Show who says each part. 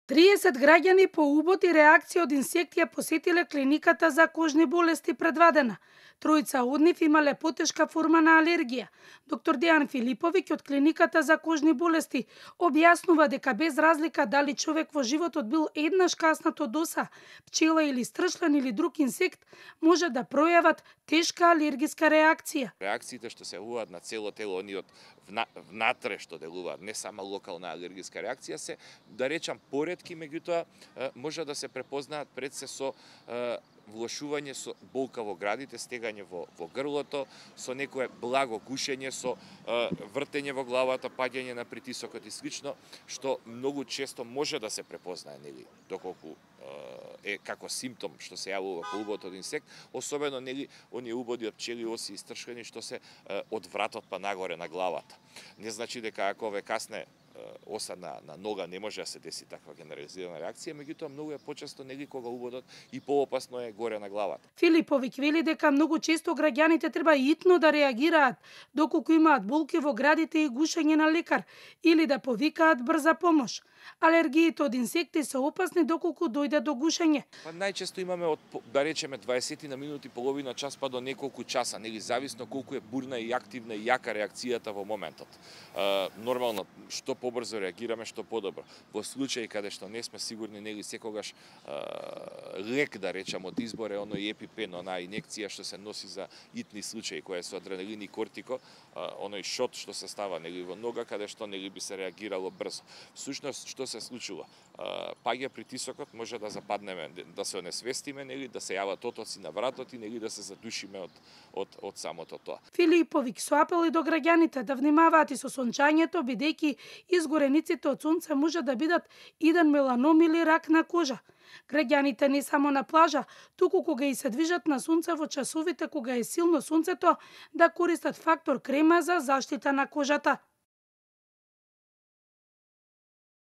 Speaker 1: 30 граѓани по убод и реакција од инсекти ја посетиле клиниката за кожни болести предвадена. Тројца од нив имале потешка форма на алергија. Доктор Дејан Филиповиќ од клиниката за кожни болести објаснува дека без разлика дали човек во животот бил еднаш каснат од оса, пчела или стршлен или друг инсект, може да пројават тешка алергиска реакција.
Speaker 2: Реакциите што се јавуваат на цело тело, они од внатре што делуваат, не само локална алергиска реакција, се, да речам, поретки, меѓутоа може да се препознаат пред се со влошување со болка во градите, стегање во грлото, со некое благо гушење, со вртење во главата, паѓање на притисокот и слично, што многу често може да се препознае, нели, доколку е како симптом што се јавува по убод од инсект, особено, нели, оние убоди од пчели, оси и стршкани што се од вратот па нагоре на главата. Не значи дека ако ве касне оса на нога не може да се деси таква генерализирана реакција, меѓутоа многу е почесто, нели, кога убодот и поопасно е горе на главата.
Speaker 1: Филиповиќ вели дека многу често граѓаните треба итно да реагираат доколку имаат болки во градите и гушење на лекар или да повикаат брза помош. Алергиите од инсекти се опасни доколку дојде до гушење.
Speaker 2: Па најчесто имаме од, да речеме, 20 на минути, половина час па до неколку часа, нели, зависно колку е бурна и активна и јака реакцијата во моментот. Нормално, што побрзо реагираме, што подобро. Во случаи каде што не сме сигурни, нели, секогаш лек, да речам, од избор е оној епипен, онаа инекција што се носи за итни случаи, која е со адреналин и кортико, оној шот што се става, нели, во нога, каде што, нели, би се реагирало брзо. Всушност, што се случува? Паѓа притисокот, може да западнеме, да се онесвестиме, нели, да се јават отоци на вратот и, нели, да се задушиме од самото тоа.
Speaker 1: Филиповиќ со апели до граѓаните да внимаваат и со сончањето, бидејќи изгорениците од сонце може да бидат иден меланом или рак на кожа. Граѓаните не само на плажа, туку кога и се движат на сонце во часовите кога е силно сонцето, да користат фактор крема за заштита на кожата.